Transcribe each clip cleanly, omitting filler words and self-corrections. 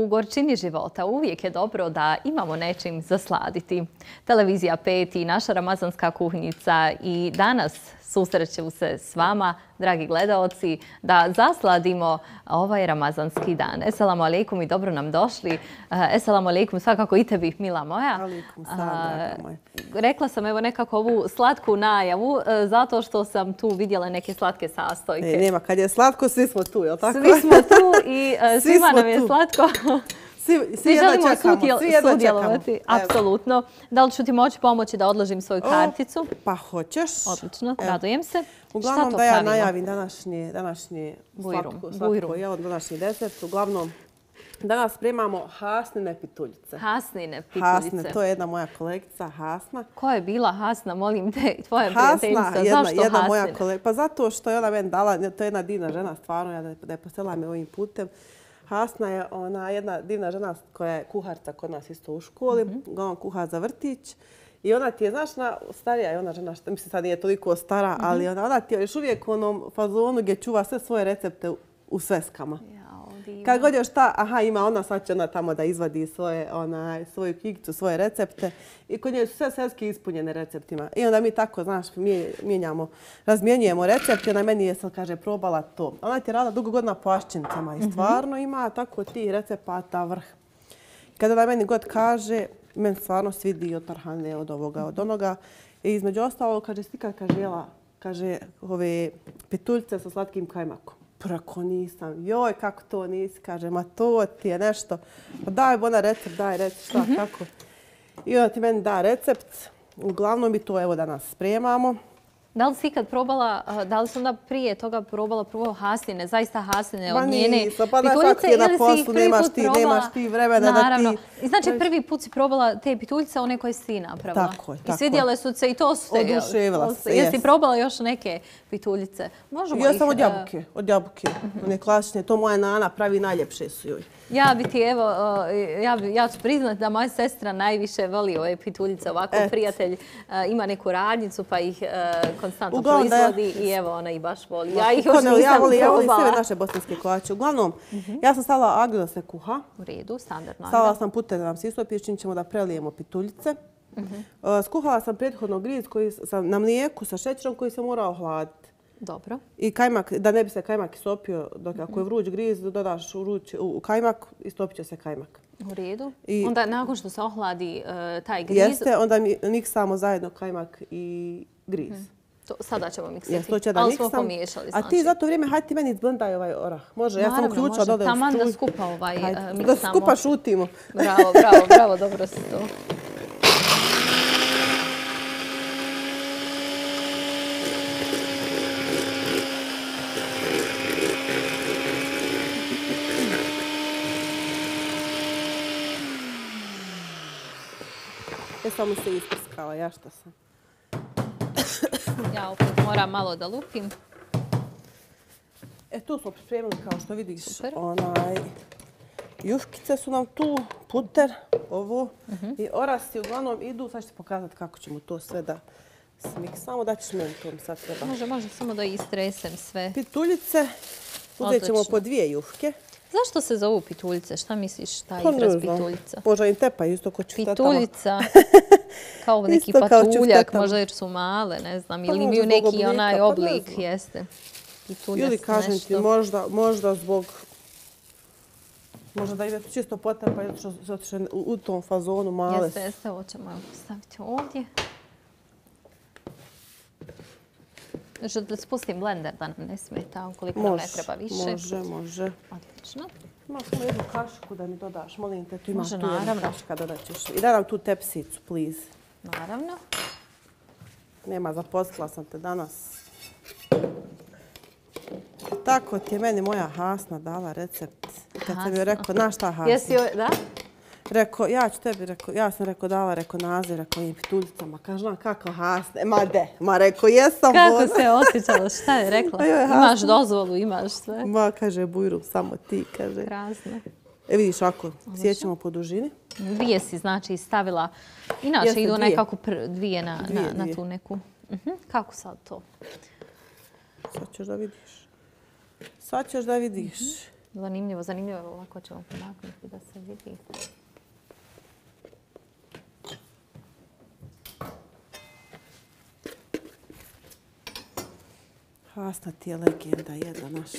U gorčini života uvijek je dobro da imamo nečim zasladiti. Televizija 5 i naša ramazanska kuhinjica i danas susreću se s vama, dragi gledaoci, da zasladimo ovaj ramazanski dan. Esselamu alaikum i dobro nam došli. Esselamu alaikum svakako i tebi, mila moja. Alaikum salam, draga moja. Rekla sam evo nekako ovu slatku najavu zato što sam tu vidjela neke slatke sastojke. Nema, kad je slatko, svi smo tu, jel tako? Svi smo tu i svima nam je slatko. Svi želimo sudjelovati. Apsolutno. Da li ću ti moći pomoći da odložim svoju karticu? Pa hoćeš. Odlično, radujem se. Uglavnom da ja najavim današnje današnji desert. Uglavnom, danas spremamo hasnine pituljice. Hasnine pituljice. Hasne, to je jedna moja kolegica, Hasna. Ko je bila Hasna, molim te, tvoja prijateljica? Zašto jedna moja kolegica. Pa zato što je ona meni dala, to je jedna divna žena, stvarno, da je poslala me ovim putem. Hasna je jedna divna žena koja je kuharca kod nas isto u školi. Uglavnom kuha za vrtić. I ona ti je, znaš, starija je ona žena, mislim sad nije toliko stara, ali ona ti je još uvijek u onom fazonu gdje čuva sve svoje recepte u sveskama. Kad god još ima ona, sad će ona tamo da izvadi svoju knjigicu, svoje recepte. I kod nje su sve sveske ispunjene receptima. I onda mi tako, znaš, razmjenjujemo recepte. Ona meni je sad, kaže, probala to. Ona ti je radila dugo godina po aščincama i stvarno ima tako tih recepata vrh. Kada ona meni god kaže, meni stvarno svidi od tarhane, od ovoga, od onoga. I između ostalo, kaže, si kad jela, kaže, ove pituljice sa slatkim kajmakom. Prako nisam. Joj, kako to nisi? Kaže, ma to ti je nešto. Pa daj bona recept, šta, kako. I onda ti meni da recept. Uglavnom mi to evo danas spremamo. Da li si ikad probala, da li si onda prije toga probala prvo hasline, zaista hasline od njene pituljice ili si ih prvi put probala? Nemaš ti vremena da ti... I znači prvi put si probala te pituljice, one koje si ti napravila. Tako je. I svidjele su se i to su te... Oduševila se, jesi probala još neke pituljice? Ja sam od jabuke. One klasične, to moja nana pravi, najljepše su joj. Ja bi ti, evo, ja ću priznati da moja sestra najviše voli ove pituljice. Ovako prijatelj ima neku radnicu pa ih konstantno proizvodi i evo ona ih baš voli. Ja ih još nisam probala. Ja volim sve naše bosanske kolače. Uglavnom, ja sam stavila agru da se kuha. U redu, standardno. Stavila sam puter da nam se istopi, čim ćemo da prelijemo pituljice. Skuhala sam prethodno griz na mlijeku sa šećerom koji se mora ohladiti. Dobro. I kajmak, da ne bi se kajmak istopio, dok ako je vruć griz, dodaš u kajmak, istopit će se kajmak. U redu. Onda nakon što se ohladi taj griz... Jeste, onda miksamo zajedno kajmak i griz. Sada ćemo miksati, ali smo pomiješali. A ti za to vrijeme, hajde ti meni izblendaj ovaj orah. Može, ja sam uključila da odem taman da skupa miksamo. Da skupa šutimo. Bravo, dobro si to. Ja samo se isprskala, ja šta sam. Ja opet moram malo da lupim. Tu smo pripremili, kao što vidiš, juškice su nam tu, puter, ovo i orasi uglavnom idu. Sad ću ti pokazati kako ćemo to sve da smiksamo. Da ćeš meni to mi sad treba. Može samo da istresem sve. Pituljice, uzet ćemo po 2 juške. Zašto se zovu pituljice? Šta misliš taj izraz pituljica? Možda im tepa isto ko ću tamo. Pituljica, kao neki patuljak, možda jer su male, ne znam, ili imaju neki onaj oblik, jeste. Ili kažem ti, možda zbog... Možda da ide čisto potepa, zato što je u tom fazonu male. Jeste, ovo ćemo staviti ovdje. Da spustim blender da nam ne smeta, ukoliko nam ne treba više. Može. Odlično. Ima samo jednu kašku da mi dodaš, molim te, tu imaš tu jedna kaška, dodat ćeš. I daj nam tu tepsicu, please. Naravno. Nema, zaposlila sam te danas. Tako ti je meni moja Hasna dala recept. Kad sam joj rekao, znaš šta Hasna? Jesi joj, da? Rekao, ja sam dala naziv, rekao im pituljicama. Kaže, kako Hasne? Rekao, jesam. Kako se osjećala, šta je rekla? Imaš dozvolu, imaš sve. Kaže, Bujrum, samo ti, kaže. Krasno. Vidiš, ako sjećamo po dužini. 2 si, znači, stavila. Inače, idu nekako 2 na tu neku. Kako sad to? Sad ćeš da vidiš. Zanimljivo, zanimljivo. Ovako ćemo pomaknuti da se vidi. Hasna ti je legenda jedna naš.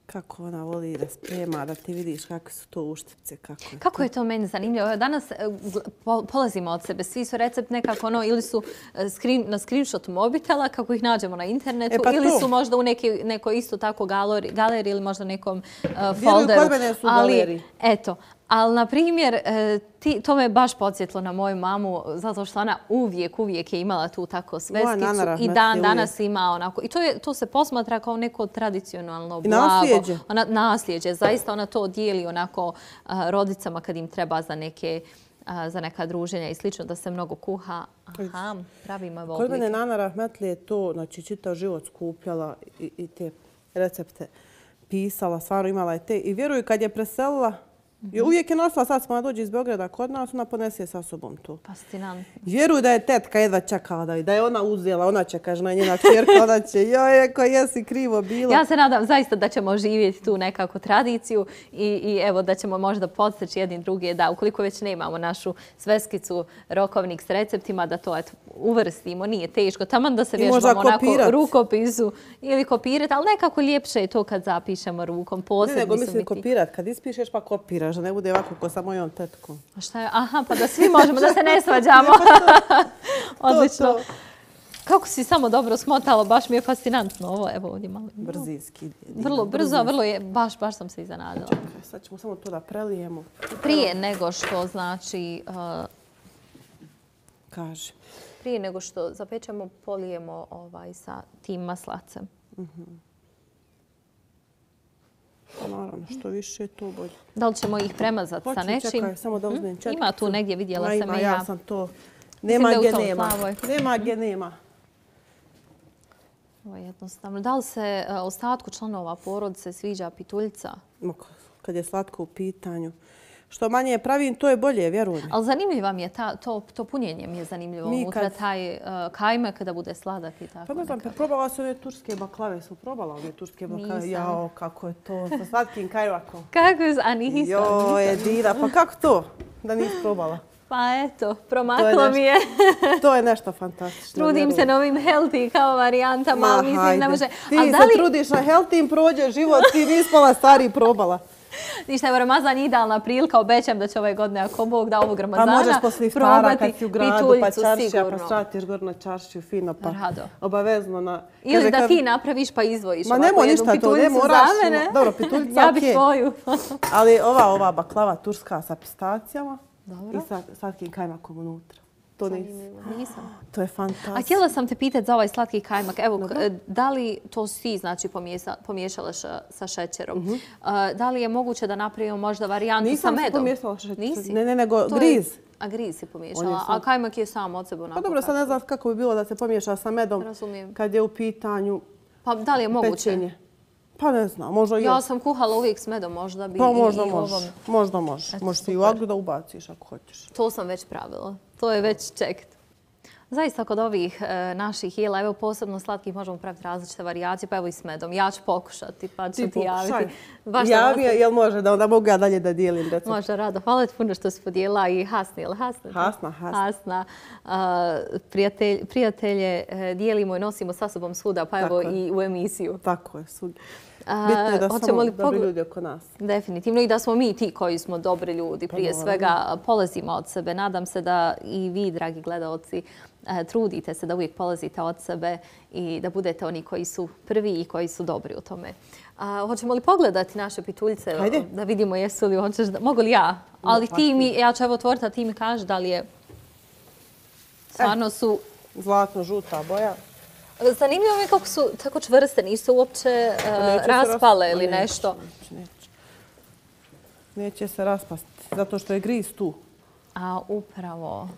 Kako ona voli da sprema, da ti vidiš kakve su to uštipce. Kako je to meni zanimljivo? Danas polazimo od sebe. Svi su recept nekako ili su na screenshotu mobitela kako ih nađemo na internetu ili su možda u nekoj isto tako galeriji ili možda nekom folderu. Kod mene su u galeriji. Eto. Ali, na primjer, to me baš podsjetilo na moju mamu, zato što ona uvijek je imala tu tako sveskicu i danas ima onako. I to se posmatra kao neko tradicionalno blago. Nasljeđe. Nasljeđe. Zaista ona to dijeli onako rodicama kad im treba za neka druženja i slično, da se mnogo kuha. Aha, pravimo evo Kod oblike. mene Nana Rahmetli je to, znači čitav život skupljala i te recepte pisala, stvarno imala je te. I vjeruju kad je preselila, uvijek je nosila, sad smo dođe iz Beograda kod nas, ona ponese sa sobom to. Fascinantno. Vjeruju da je tetka jedva čekala da je ona uzela, ona će, kaže, njena čerka, ona će, joj, ako jesi krivo bilo. Ja se nadam zaista da ćemo živjeti tu nekako tradiciju i evo da ćemo možda podsteći jedni drugi, da ukoliko već nemamo našu sveskicu, rokovnik s receptima, da to uvrstimo, nije teško. Taman da se vježbamo onako rukopisu ili kopirati, ali nekako ljepše je to kad zapišemo rukom. Ne, nego mislim kopirati, kad ispišeš pa kopiraš, da ne bude ovako ko sa mojom tetkom. Šta je? Aha, pa da svi možemo, da se ne svađamo. Odlično. Kako si samo dobro smotala, baš mi je fascinantno ovo. Evo ovdje malo. Brzinski. Vrlo brzo, vrlo je, baš sam se iznenadila. Čekaj, sad ćemo samo to da prelijemo. Prije nego što, znači... Kaže. Prije nego što zapečemo, polijemo sa tim maslacem. Naravno, što više, to bolje. Da li ćemo ih premazati sa nečim? Čekaj, samo da uzmem četkicu. Ima tu negdje, vidjela sam i ja. Ja sam to... Nema gdje nema. Nema gdje nema. Ovo je jednostavno. Da li se ostatku članova porodice sviđa pituljica? Kad je slatko u pitanju. Što manje pravim, to je bolje, vjerujem. Ali zanimljivo mi je to punjenje mi je zanimljivo. Unutra taj kajmak kada bude sladak i tako. Pa ne znam, probala sam ove turske baklave. Sam probala ove turske baklave. Jao, kako je to sa slatkim kajmakom. Kako je, a nisam. Joj, dira, pa kako to da nisi probala? Pa eto, promaklo mi je. To je nešto fantastično. Trudim se na ovim healthy kao varijantama, ali mislim ne može. Ti se trudiš na healthy, prođe život, ti nisi pola stvari probala. Ništa, evo Ramazan je idealna prilika, obećam da će ove godine, ako Bog da ovog Ramazana, probati možeš posle iftara kad si u gradu, pa čaršija, pa stratiš gore na čaršiju fino, pa obavezno na... Ili da ti napraviš pa izvojiš ovako jednu pituljicu za mene. Dobro, pituljica, ja bih tvoju. Ali ova baklava turska sa pistacijama i sa slatkim kajmakom unutra. To nisam. To je fantastično. A htjela sam te pitati za ovaj slatki kajmak. Evo, da li to si znači pomiješala sa šećerom? Da li je moguće da napravimo možda varijantu sa medom? Nisam pomiješala šećer. Nisi? Ne, nego griz. A griz si pomiješala, a kajmak je sam od sebe onako. Pa dobro, sad ne znam kako bi bilo da se pomiješa sa medom kad je u pitanju pečenje. Pa da li je moguće? Pa ne znam, možda ja sam kuhala uvijek s medom, možda bi i ovom... Možda možeš. Možeš ti i u agru da ubaciš ako hoćeš. To sam već pravila. To je već čekt. Zaista kod ovih naših jela, evo posebno slatkih, možemo praviti različite varijacije, pa evo i s medom. Ja ću pokušati, pa ću ti javiti. Javi, jel može da onda mogu ja dalje da dijelim recept? Može, rado. Hvala ti puno što si podijela i Hasna, jel Hasna? Hasna. Prijatelje dijelimo i nosimo sa sobom svuda, pa evo i u emisiju. Tako je, svugdje. Bitno je da smo dobri ljudi oko nas. Definitivno i da smo mi ti koji smo dobri ljudi. Prije svega polazimo od sebe. Nadam se da i vi, dragi gledalci, trudite se da uvijek polazite od sebe i da budete oni koji su prvi i koji su dobri u tome. Hoćemo li pogledati naše pituljice? Hajde. Da vidimo jesu li hoćeš da... Mogu li ja? Ali ti mi, ja ću evo otvoriti, a ti mi kažeš da li je... Stvarno su... Zlatno-žuta boja. Zanimljivo mi je kako su tako čvrste, nisu uopće raspale ili nešto. Neće se raspasti, zato što je griz tu. A upravo.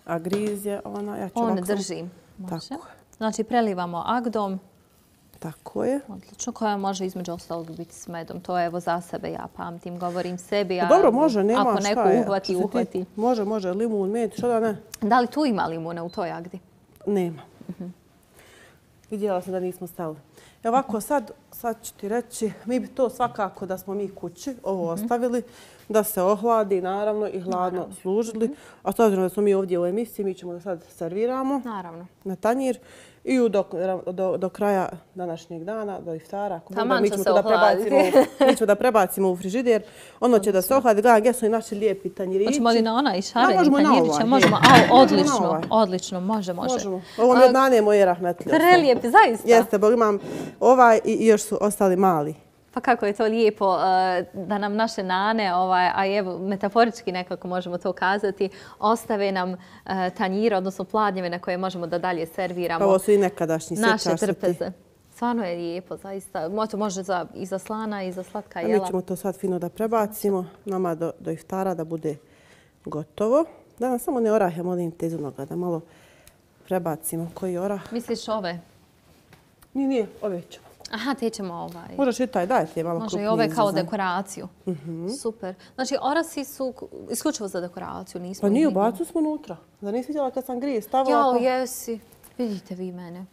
A griz je ona... On drži. Tako je. Znači prelivamo agdom. Tako je. Odlično, koja može između ostalog biti s medom. To je evo za sebe, ja pamtim, govorim sebi. Dobro, može, nema šta je. Ako neko uhvati, uhvati. Može, limun, med, što da ne. Da li tu ima limuna u toj agdi? Nema. Vidjela sam da nismo stavili. Ovako, sad sad ću ti reći, mi bi to svakako da smo mi kući ovo ostavili, da se ohladi naravno i hladno služili. A s obzirom da smo mi ovdje u emisiji, mi ćemo da sad serviramo na tanjir. I do kraja današnjeg dana, do iftara, mi ćemo da prebacimo u frižider. Ono će da se ohladi. Gledam gdje su i naši lijepi tanjirići. Hoćemo li na onaj šareni tanjiriće? Možemo. Odlično, može. Ovo mi od nane moje rahmetlije. Prelijepi, zaista. Jeste, bol imam ovaj i još su ostali mali. Pa kako je to lijepo da nam naše nane, a evo metaforički nekako možemo to kazati, ostave nam tanjire, odnosno pladnjeve na koje možemo da dalje serviramo. Pa ovo su i nekadašnji naše trpeze. Stvarno je lijepo, zaista. Može i za slana i za slatka jela. Mi ćemo to sad fino da prebacimo nama do iftara da bude gotovo. Da nam samo ne orahe, molim te iz onoga da malo prebacimo. Koji orah? Misliš ove? Nije, ove ćemo. Aha, te ćemo Možeš i taj, daj ti je malo krupniji. Može i ove kao dekoraciju. Super. Znači, orasi su isključivo za dekoraciju, nismo... Pa nije, ubacili smo unutra. Zar nisi vidjela kad sam grije stavila? Jao, jesi. Vidite vi mene.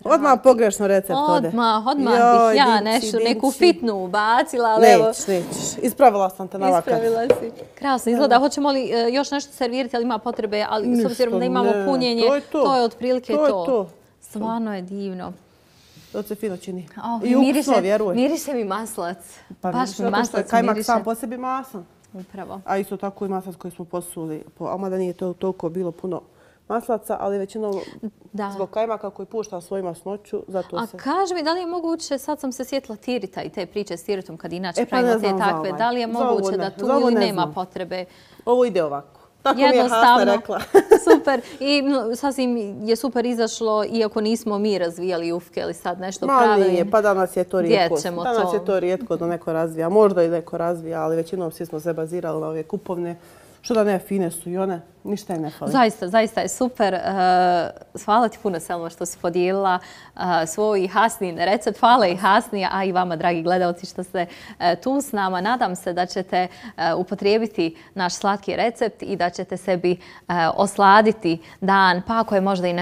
Odmah pogrešno recept ode. Odmah bih ja neku fitnu ubacila, ali evo... Nećeš. Ispravila sam te na ovakav. Ispravila si. Krasno izgleda. Hoćemo li još nešto servirati, ali ima potrebe, ali s obzirom da imamo punjenje, to je otprilike to. Stvarno je divno. To se fino čini. I ukusno, vjeruj. Miriše mi maslac. Baš mi maslac miriše. Kajmak sam po sebi masan. Upravo. A isto tako i maslac koji smo posuli. Mada nije toliko bilo puno maslaca, ali većinom zbog kajmaka koji pušta svoju masnoću, zato se... A kaži mi, da li je moguće, sad sam se sjetila tirita i te priče s tiritom kad inače pravimo te takve, da li je moguće da tu ili nema potrebe? Ovo ide ovako. Tako mi je Hasna rekla. Super. I sasvim je super izašlo, iako nismo mi razvijali ufke ili sad nešto pravili. Nije, pa danas je to rijetko. Danas je to rijetko da neko razvija. Možda i neko razvija, ali većinom svi smo se bazirali na ove kupovne. Što da ne, fine su i one, ništa je ne fali. Zaista je super. Hvala ti puno, Selma, što si podijelila svoj Hasnin recept. Hvala i Hasni, a i vama, dragi gledalci, što ste tu s nama. Nadam se da ćete upotrijebiti naš slatki recept i da ćete sebi osladiti dan, pa ako je možda i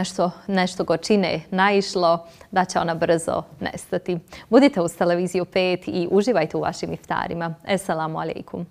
nešto gorčine naišlo, da će ona brzo nestati. Budite uz Televiziju 5 i uživajte u vašim iftarima. Esselamu alaikum.